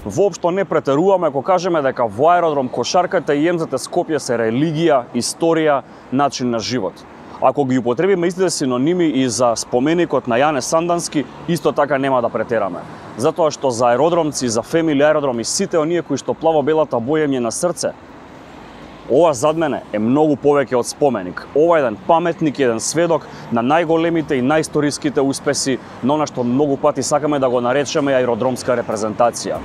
воопшто не претеруваме ако кажеме дека во аеродром кошарката и МЗТ Скопје се религија, историја, начин на живот. Ако ги употребиме истите синоними и за споменикот на Јане Сандански, исто така нема да претераме. Затоа што за аеродромци, за Фемили аеродром и сите оние кои што плаво-белата боја им е на срце, ова зад мене е многу повеќе од споменик. Ова е еден паметник, еден сведок на најголемите и најисториските успеси на она што многу пати сакаме да го наречеме аеродромска репрезентација.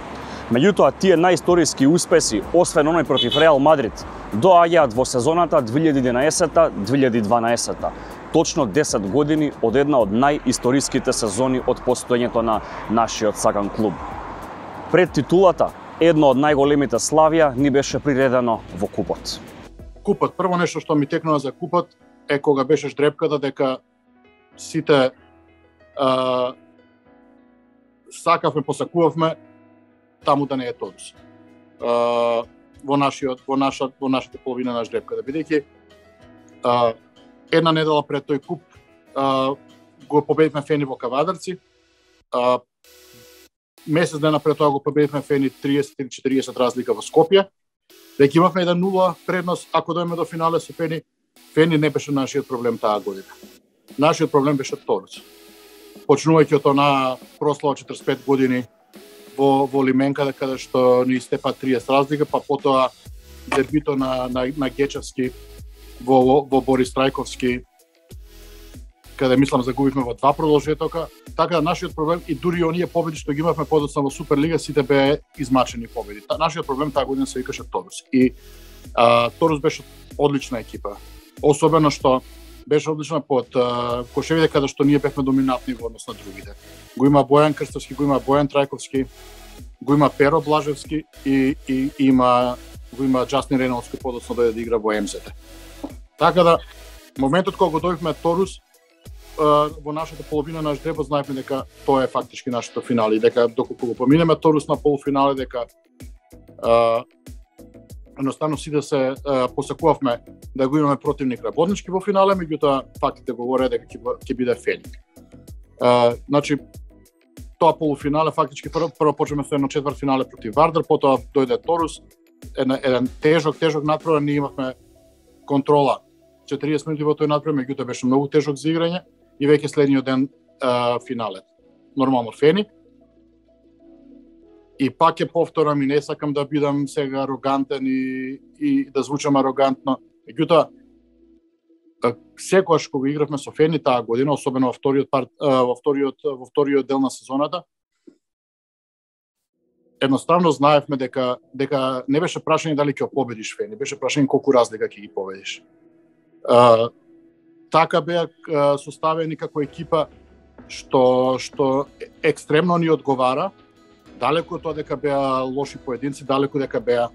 Меѓутоа, тие најисториски успеси, освен оној против Реал Мадрид, доаѓаат во сезоната 2011-2012. Точно 10 години од една од најисториските сезони од постоењето на нашиот сакан клуб. Пред титулата, едно од најголемите славија ни беше приредено во купот. Купот, прво нешто што ми текнува за купот е кога беше ждрепката дека сите сакавме, посакувавме таму да не е Торус. Во нашата половина на ждрепката, бидејќи една недела пред тој куп го победивме Фени во Кавадарци. Месец дена пред тоа го победивме Фени 30-40 разлика во Скопје. Веќе имавме 1-0 предност, ако дојме до финале со Фени. Фени не беше нашиот проблем таа година. Нашиот проблем беше Торус. Почнувајќи од она прослава 45 години во Лименка, каде што ни истепа 30 разлика, па потоа дебито на Гечевски во Борис Трајковски, каде мислам загубивме во 2 продолжетока. Така да нашиот проблем и дури оние победи што ги имавме подоцна во Суперлига, сите беа измачени победи. Нашиот проблем таа година се викаше Торус. И Торус беше одлична екипа. Особено што беше одлична под кошевите, каде што ние бевме доминантни во однос на другите. Го има Бојан Крстовски, го има Бојан Трајковски, го има Перо Блажевски и го има Джастин Рейнолдс кој подоцна дојде да игра во МЗТ. Така да, моментот кога го добивме Торус, во нашата половина на ждребот знаевме дека тоа е фактички нашето финале, дека доколку го поминеме Торус на полуфинале, дека едноставно сите се посакувавме да го имаме противник работнички во финале, меѓутоа фактите говореа дека ќе биде Фени. Значи, тоа полуфинале фактички прво почнеме со едно четвртфинале против Вардар, потоа дојде Торус, еден тежок натпревар, ние имавме контрола 40 минути во тој натпревар, меѓутоа беше многу тежок за играње и веќе следниот ден финале. Нормално Фени. И пак ќе повторам и не сакам да бидам сега арогантен и да звучам арогантно. Меѓутоа, секогаш кога игравме со Фени таа година, особено во вториот дел на сезоната, едноставно знаевме дека не беше прашање дали ќе победиш Фени, беше прашање колку разлика ќе ги победиш. Така беа составени како екипа што екстремно ни одговара, далеку од тоа дека беа лоши поединци, далеку дека беа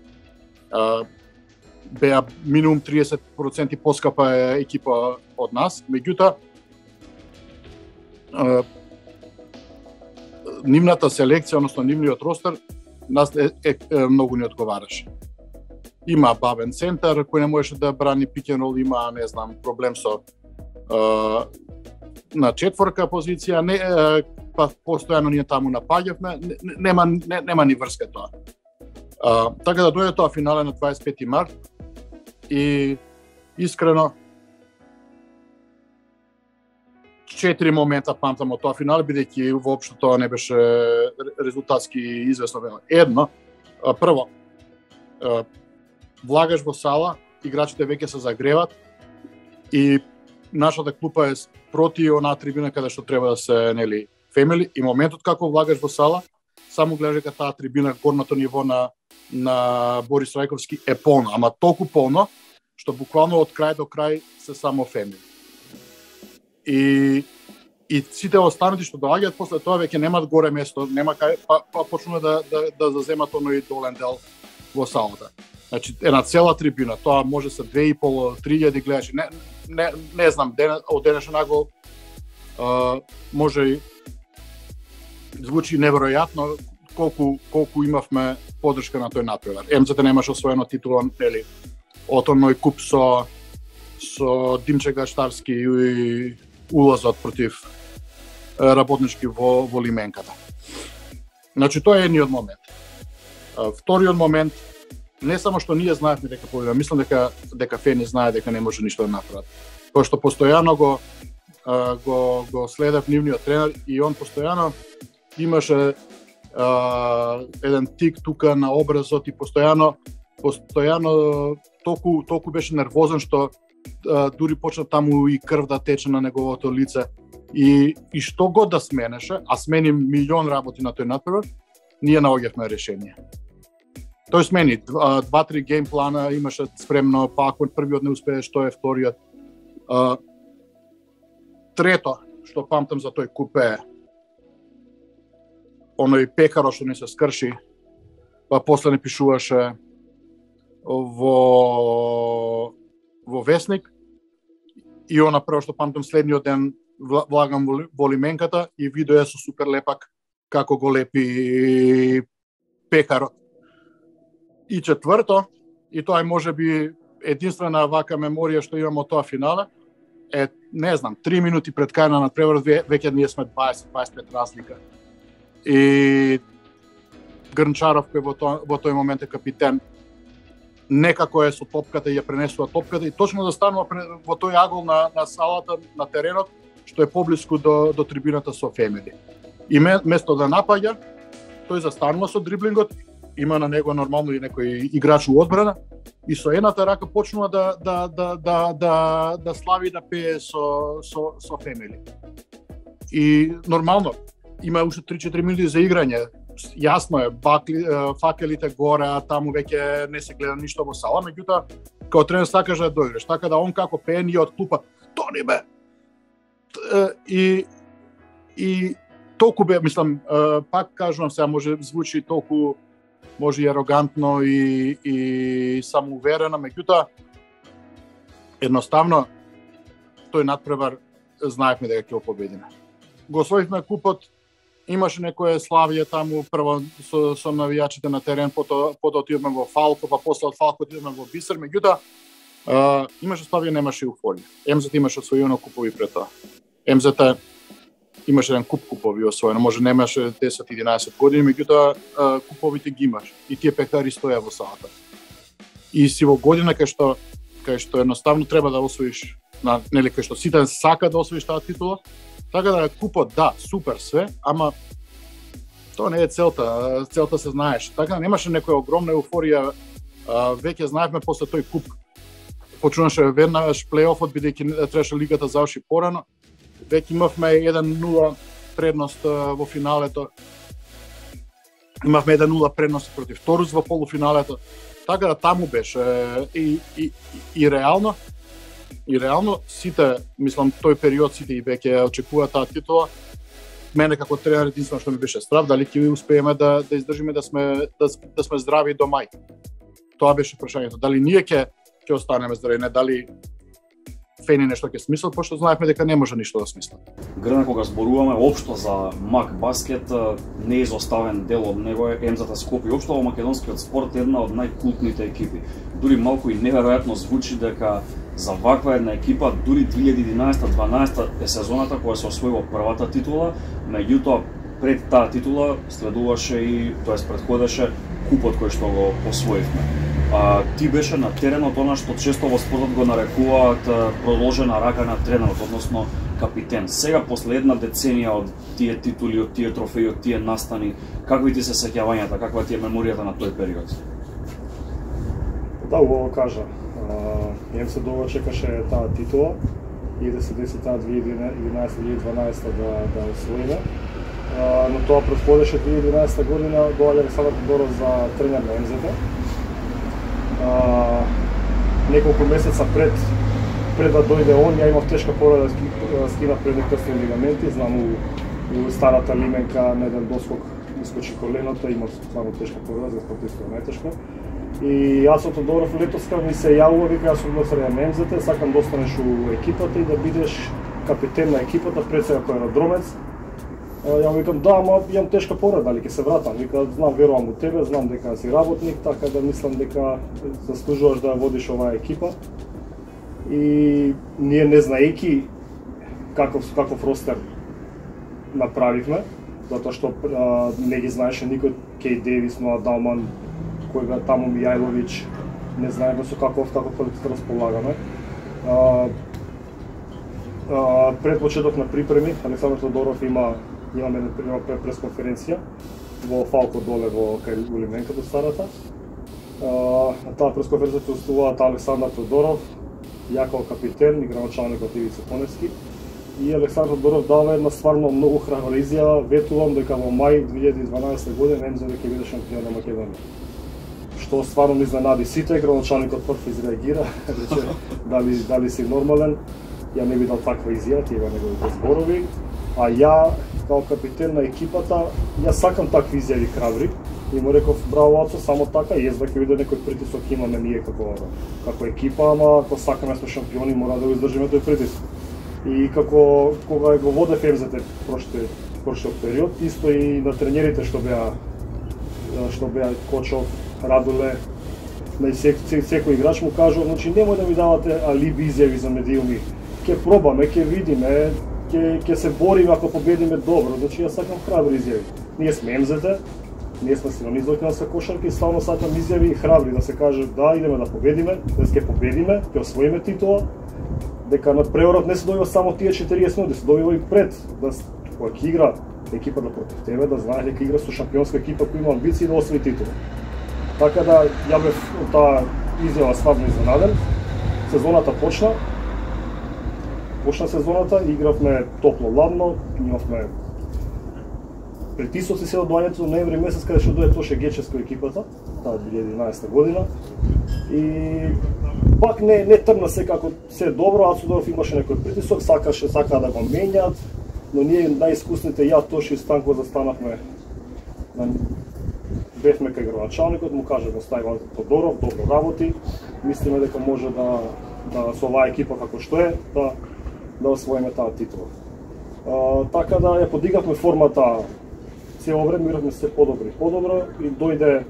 минимум 30% поскапа екипа од нас, меѓутоа нивната селекција, односно нивниот ростер, нас многу не одговараше. Има бавен центар кој не можеше да брани пик н рол, има, не знам, проблем со на четворка позиција, па постојано ние таму напаѓавме, нема ни врска тоа. Така да дојде тоа финале на 25 март и искрено 4 момента памтам од тоа финале, бидејќи воопшто тоа не беше резултатски известно. Едно, прво, влагаш во сала, играчите веќе се загреват и нашата клупа е проти онаа трибина каде што треба да се, нели, Фемили, и моментот како влагаш во сала, само гледаш дека таа трибина, горното ниво на Борис Трајковски е полно, ама толку полно што буквално од крај до крај се само Фемили. И сите останати што доаѓаат после тоа веќе немаат горе место, нема кај, па почнува да заземат оној долен дел во салата. Значи, една цела трибина, тоа може се 2.500-3.000 гледачи. Не знам, од денешен нагол може и звучи неверојатно колку имавме поддршка на тој натпревар. МЗТ немаше освоено титула, нели, од оној куп со Димче Гаштарски и улазот против работнички во Лименката. Значи, тоа е едниот момент. Вториот момент, не само што ние знаевме дека победиме, мислам дека Фени знае дека не може ништо да направат. Тоа што постојано го следев нивниот тренер и он постојано имаше еден тик тука на образот и постојано толку беше нервозен што дури почна таму и крв да тече на неговото лице и што год да сменеше, а смени милион работи на тој натпревар, ние наоѓавме решение. Тој смени 2-3 гейм плана имаше спремно, па ако првиот не успееш, тоа е вториот. Трето што памтам за тој куп е оној пекаро што не се скрши, па после не пишуваше во Весник и она прво што памтам следниот ден влагам во лименката и видео е со супер лепак како го лепи пекарот. И четврто, и тоа е можеби единствена вака меморија што имам од тоа финале, е, не знам, 3 минути пред крај на надпреварот веќе ние сме 20-25 разлика. И Грнчаров кој во тој момент е капитен, некако е со топката и ја пренесува топката и точно да станува во тој агол на салата, на теренот, што е поблиску до трибината со Фемели. И место да напаѓа, тој застанува со дриблингот, има на него нормално и некој играч у одбрана и со едната рака почнува да слави да пее со Фемели. И нормално има уште 3-4 минути за играње. Јасно е, факелите горе, а таму веќе не се гледа ништо во сала, меѓутоа као тренер сакаш да дојдеш, така да он како пее ние од клупа тони бе. И толку бе, мислам, пак кажувам сега може звучи толку може и арогантно и самоуверено, меѓутоа едноставно тој надпревар знаевме дека ќе го победиме. Го освоивме купот, имаше некое славие таму прво со навијачите на терен, потоа отидовме во Фалко, па после од Фалко отидовме во Бисер, меѓутоа имаше славие, немаше еуфорија. МЗТ имаше освоено купови пред тоа. МЗТ имаше еден купови освоено, може немаше 10-11 години, меѓутоа куповите ги имаш и тие пекари стоја во салата. И си во година кај што едноставно треба да освоиш, нели кај што сите сака да освоиш таа титула. Така да купот, да, супер све, ама тоа не е целта, целта се знаеш. Така немаше некоја огромна еуфорија, веќе знаевме после тој куп. Почнуваше веднаш плейофот, бидејќи требаше лигата заврши порано. Веќе имавме 1-0 предност во финалето. Имавме 1-0 предност против Торус во полуфиналето. Така да таму беше и реално. И реално сите, мислам, тој период сите и веќе очекува таа титула. Мене како тренер единствено што ми беше страв, дали ќе успееме да издржиме да сме здрави до мај. Тоа беше прашањето. Дали ние ќе останеме здрави, не дали Фени нешто ќе смислат, пошто знаевме дека не може ништо да смислат. Грна, кога зборуваме општо за МАК баскет, неизоставен дел од него е МЗТ Скопје. Општо во македонскиот спорт е една од најкултните екипи. Дури малку и неверојатно звучи дека за ваква една екипа, дури 2011-12 е сезоната кога се освоила првата титула, меѓутоа пред таа титула следуваше и, тоест предходеше купот кој што го освоивме. Ти беше на теренот она што често во спортот го нарекуваат продолжена рака на тренерот, односно капитен. Сега, после една деценија од тие титули, од тие трофеи, од тие настани, какви ти се сеќавањата, каква ти е меморијата на тој период? Да, убаво кажа. МС долго чекаше таа титула и да се деси таа 2011-2012 да освоиме. Но тоа предходеше 2011 година, доаѓа Александар Тодоров за тренер на МЗТ. Неколку месеца пред да дојде он, ја имав тешка повреда, скинав предни крстни лигаменти, знам у старата лименка на еден доскок искочи коленото, имав стварно тешка повреда, за спортиста најтешка. И јас од Тодоров летоска ми се јавува, вика, јас сум го тренер на МЗТ, сакам да останеш у екипата и да бидеш капитен на екипата пред сега кој аеродромец. Ја викам, да, ама имам тешка повреда, дали ќе се вратам. Вика, знам, верувам у тебе, знам дека си работник, така да мислам дека заслужуваш да водиш оваа екипа. И ние не знаејќи каков ростер направивме, затоа што не ги знаеше никој Кей Дейвис, Ноа Далман, кој беа таму Мијајловиќ, не знаеме со каков колектив располагаме. Пред почеток на припреми, Александар Тодоров имаме пресконференција во Фалко доле во кај Улименка до Старата. На таа пресконференција присуствуваат Александар Тодоров, Јаков капитен и градоначалникот Ивица Коневски. И Александар Тодоров дава една стварно многу храбра изјава, ветувам дека во мај 2012 година МЗ ќе биде шампион на Македонија. Што стварно ме изненади сите, градоначалникот прв изреагира, рече дали си нормален, ја не би дал таква изјава, тие неговите зборови, а ја као капитен на екипата, ја сакам такви изјави храбри и му реков браво Ацо, само така, јас ќе биде некој притисок имаме ние како екипа, ама ако сакаме сме шампиони мора да го издржиме тој притисок. И како кога го водев МЗ прошлиот период, исто и на тренерите што беа Кочов, Радуле, на секој играч му кажува, значи немој да ми давате алиби изјави за медиуми. Ќе пробаме, ќе видиме, ќе се бориме ако победиме добро. Значи јас сакам храбри изјави. Ние сме МЗ-те, ние сме синонизмот со кошарка и стално сакам изјави храбри да се каже да идеме да победиме, да ќе победиме, ќе освоиме титула. Дека на преворот не се добива само тие 40 минути, се добива и пред, да кога ќе игра екипата против тебе, да знае дека игра со шампионска екипа која има амбиции да освои титула. Така да ја бев таа изјава стварно изненаден. Сезоната почна сезоната, игравме топло-ладно, имавме притисоци се од доаѓањето до ноември месец каде што дојде Тоше Гечевски екипата, таа 2011 година. И пак не тргна се како се добро, Ацудоров имаше некој притисок, сака да го менјат, но ние најискусните, ја, Тоши и Станко застанавме, бевме кај градоначалникот, му кажа го стави Тодоров, добро работи, мислиме дека може да со оваа екипа како што е, да освоиме таа титула. Така да ја подигавме формата, цело време игравме се подобро и дојде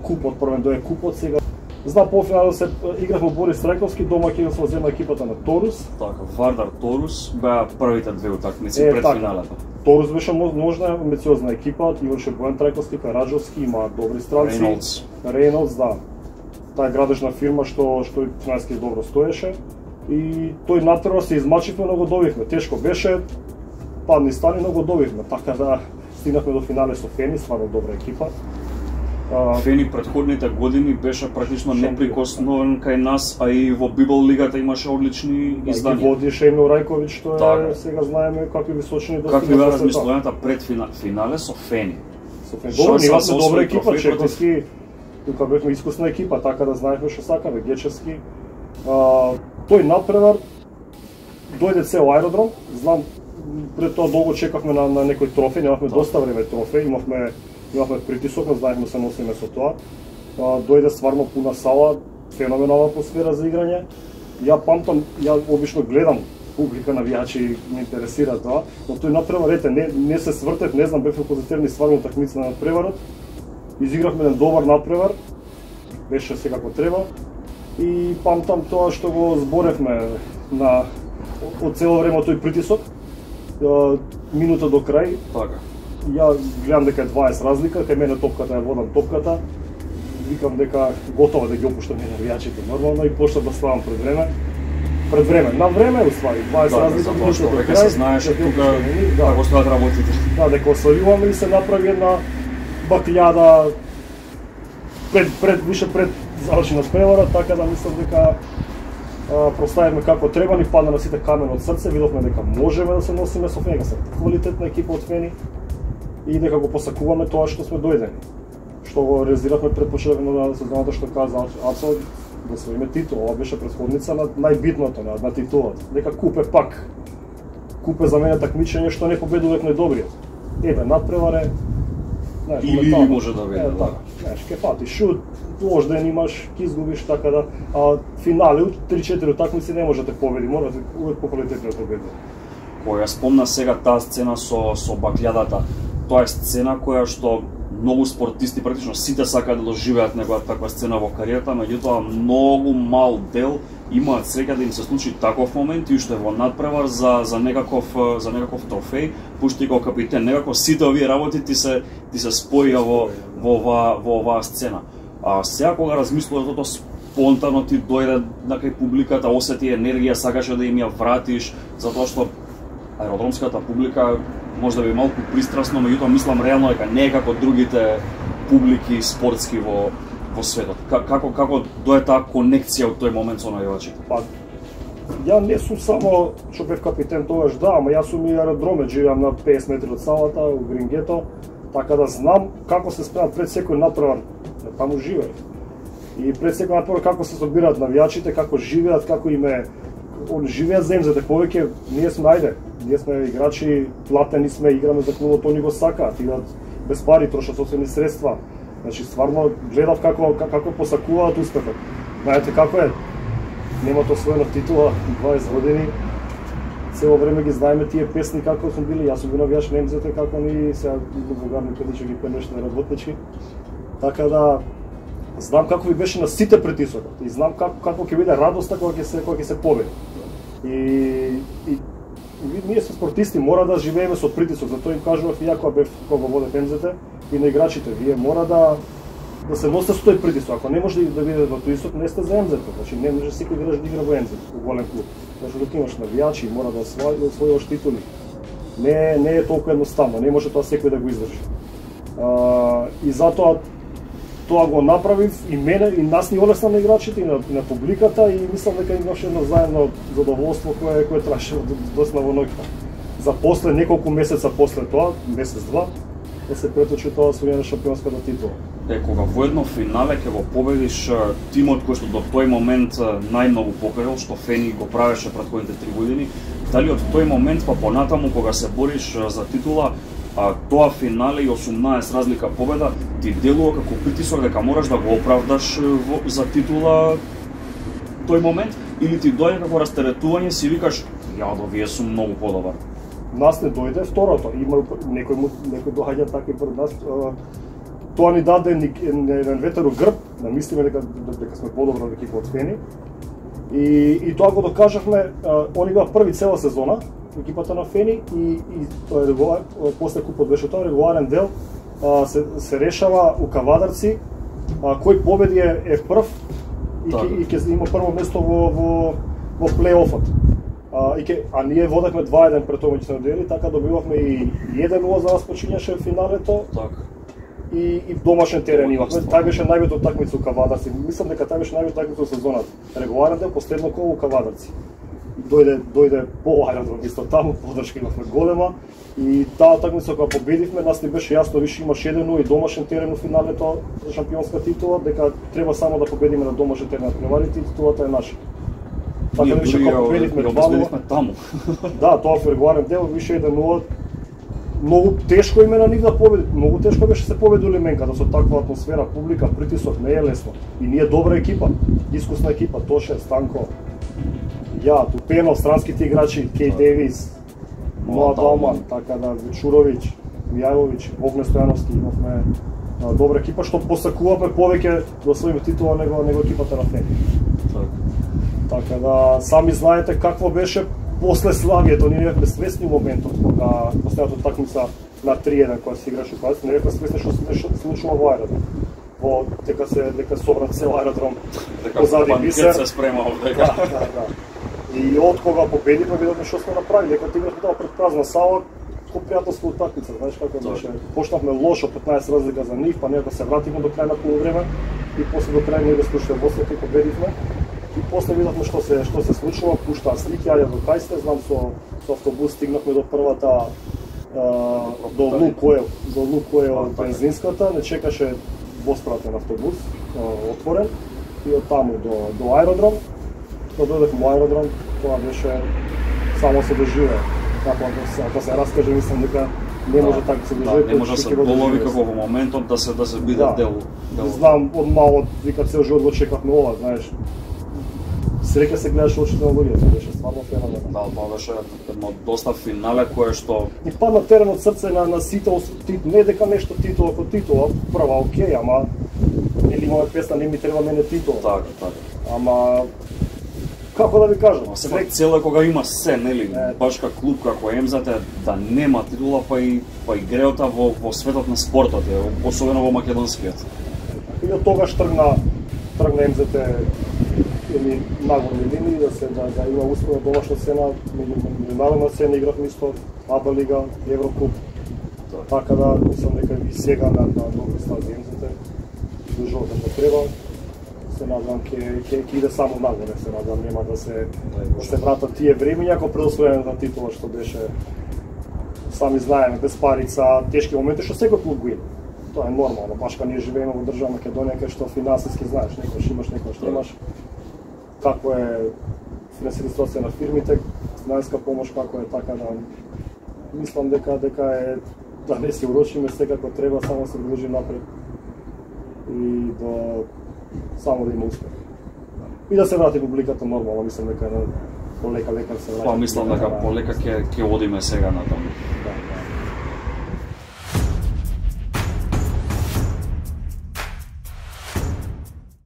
купот, првен дојде купот сега. Знам полуфиналот се игравме Борис Рајковски, домаќинство зема екипата на Торус. Така, Вардар Торус беа првите две утакмици пред финалата. Торус беше можна, амбициозна екипа, имаше Бојан Трајковски, Караджовски, има добри странци. Рейнолдс, да. Таа градежна фирма што финански добро стоеше. И тој натпревар се измачивме, но го добивме. Тешко беше, падни стани, но го добивме. Така да стигнахме до финале со Фени, стварно добра екипа. Фени предходните години беше практично неприкосновен кај нас, а и во Библ лигата имаше одлични изданија. Ги водише Емил Рајковиќ, што е, сега знаеме какви височини достигна. Какви беа размислувањата пред финале со Фени? Со Фени. Добро, имавме добра екипа, Чековски, тука бевме искусна екипа, така да знаевме што сакаме, Гечевски. Тој надпревар дојде цел аеродром, знам пред тоа долго чекавме на некој трофеј, немавме доста време трофеј, имавме притисок, но знаевме се носиме со тоа. Дојде стварно пуна сала, феноменална атмосфера за играње. Ја памтам, ја обично гледам публика, навијачи, ме интересира тоа, но тој надпревар, не се свртев, не знам, бевме позитивни стварно утакмици на надпреварот. Изигравме еден добар надпревар, беше се како треба. И памтам тоа што го зборевме од цело време тој притисок, минута до крај. Така. Ја гледам дека е 20 разлика, кај мене топката ја водам топката, викам дека готово да ги опуштам навијачите нормално и почнав да ставам пред време. На време, уствари, 20 разлика, минута до крај. Се знаеш тука како стојат работите. Да, дека освојуваме и се направи една бакљада пред заврши на превара, така да мислам дека проставивме како треба, ни падна на сите камен од срце, видовме дека можеме да се носиме со Фени, се квалитетна екипа од Фени и дека го посакуваме тоа што сме дојдени. Што го реализиравме пред почетокот на сезоната, што каза Ацо, да освоиме титула, ова беше претходница на најбитното на титулата. Дека купе пак. Купе за мене такмичење што не победував најдобриот. Надпреваре, знаеш, или може да биде, да. Знаеш, ке фати шут, ложден имаш, ке изгубиш, така да, финале, 3-4 утакмици не може да те победи, мора да увек по квалитетно да победи. Која спомна сега таа сцена со бакљадата, тоа е сцена која што многу спортисти, практично сите сакаат да доживеат некоја таква сцена во кариерата, меѓутоа многу мал дел имаат среќа да им се случи таков момент и уште во надпревар за некаков трофеј, пушти како капитен, некако сите овие работи ти се споија во оваа сцена. А сега кога размислуваш за тоа, спонтано ти дојде на кај публиката, осети енергија, сакаше да им ја вратиш, затоа што аеродромската публика може да би малку пристрасно, меѓутоа мислам реално дека не е како другите публики спортски во светот. Како дојде таа конекција од тој момент со навивачите? Па, ја не сум само што бев капитен тогаш, да, ама јас сум и аеродроме, живеам на 50 метри од салата, у Грингето, така да знам како се спремат пред секој натпревар, таму живеев. И пред секој натпревар како се собираат навијачите, како живеат, како они живеат земјата, повеќе ние сме играчи, платени сме, играме за клубот, они го сакаат, идат без пари, трошат собствени средства. Значи стварно гледав како посакуваат успехот. Знаете како е? Немат освоена титула 20 години. Цело време ги знаеме тие песни како сум били, јас сум бил навијач на МЗТ, како ни сега бугарни педичи ги пенеште работнички. Така да знам како ви беше на сите притисокот и знам како ќе биде радоста кога ќе се победи. И ние сме спортисти, мора да живееме со притисок, затоа им кажував и ја кога водев МЗТ и на играчите, вие мора да се носите со тој притисок. Ако не може да бидете во притисок, не сте за МЗТ, значи не може секој играч да игра во МЗТ, во голем клуб. Зашто док имаш навијачи, мора да освојаш титули. Не е толку едноставно, не може тоа секој да го издржи. И затоа тоа го направив и мене и нас ни олесна на играчите и на публиката и мислам дека имаше едно заедно задоволство кое траше доста во ноќта. За после неколку месеца после тоа, месец-два, да се преточи тоа освојување на шампионската титула. Кога во едно финале ќе го победиш тимот кој што до тој момент најмногу покорил, што Фени го правеше претходните 3 години, дали од тој момент па понатаму кога се бориш за титула, тоа финале и 18 разлика победа ти делува како притисок дека мораш да го оправдаш за титула тој момент, или ти дојде како растеретување, си викаш јадо, вие сум многу подобар? Нас не дојде второто, има некој доаѓа така пред нас. Тоа ни даде еден ветер у грб, да мислиме дека сме подобра екипа од Фени. И тоа го докажавме, они беа први цела сезона, екипата на Фени, и после купот беше тоа, регуларен дел, се решава у Кавадарци, кој победи е прв и ќе има прво место во плей-офот. А ние водевме 2-1 пред тоа меѓу дели, така добивавме и 1-0 за нас почињаше финалето. И домашен терен имавме. Тај беше најбитна такмица у Кавадарци. Мислам дека тај беше најбитна такмица во сезоната. Регуларен дел, последно коло у Кавадарци. Дојде по аеродром исто таму, подршка имавме голема и таа такмица кога победивме, нас ни беше јасно више имаше 1-0 и домашен терен у финалето за шампионска титула, дека треба само да победиме на домашен терен на преварите и титулата е наша. Така да више кога победивме 2-0 таму. Да, тоа во регуларен дел више 1-0. Многу тешко име на нив да победи. Многу тешко беше се победи Лименката со таква атмосфера, публика, притисок, не е лесно. И ние добра екипа, искусна екипа, Тоше, Станко, ја, Тупенов, странските играчи, Кей Девис, Ноа Далман, така да, Вечуровиќ, Мијајовиќ, Богне Стојановски, имавме добра екипа, што посакувавме повеќе да освоиме титула него екипата на Фени. Така да, сами знаете какво беше после слагието, ние бевме свесни моментот кога последната такмица на 3-1 кога се играше кога не бевме свесни што се случува во аеродром. Дека собран цел аеродром позади бисер. Се спрема овдека. Да. И од кога победивме видовме што сме направили, дека играхме тоа пред празна сала, ко пријателство утакмица, знаеш како беше. Почнавме лошо 15 разлика за нив, па некако се вративме до крај на полувреме и после до крај ние склучиле вослете и победивме. И после видовме што се случува, пуштаа слики, ајде до кај сте, знам со автобус стигнавме до првата до Лукоел бензинската, не чекаше воспратен автобус, отворен, и од таму до аеродром. Кога дојдевме во аеродром, тоа беше само се доживее. Ако се раскаже, мислам дека не може така се доживее. Не може да се долови како во моментот да се биде дел. Знам, од мало, вика цел живот го чекавме ова, знаеш. Среќа се гледаш очите на луѓето, беше стварно феноменално. Да, тоа беше едно доста финале кое што и падна терен од срце на сите, не дека нешто титула како титула, прва окей, ама или имаме песна не ми треба мене титула. Така. Ама Како да ви кажам, Сепак цело е кога има се, нели, баш како клуб како Емзата да нема титула, па и греота во светот на спортот, особено во македонскиот. И од тогаш тргна Емзата или нагорни линии да има успех од домашна сцена, меѓународна сцена игравме исто, АБА лига, Еврокуп. Така да мислам дека и сега на добри стази Емзата до животот што треба. Се надам ќе иде само нагоре, се надам нема да се вратат тие времиња како пред освојувањето на титула што беше, сами знаеме, без парица, тешки моменти што секој клуб го има. Тоа е нормално, баш кога ние живееме во држава Македонија кај што финансиски знаеш, некојаш имаш, некојаш немаш. Како е финансиска ситуација на фирмите, финансиска помош како е, така да мислам дека е да не се урочиме, секако треба само се движи напред и само да има успех. И да се врати публиката нормално, мислам дека полека се врати. Па мислам дека полека ќе одиме сега натаму.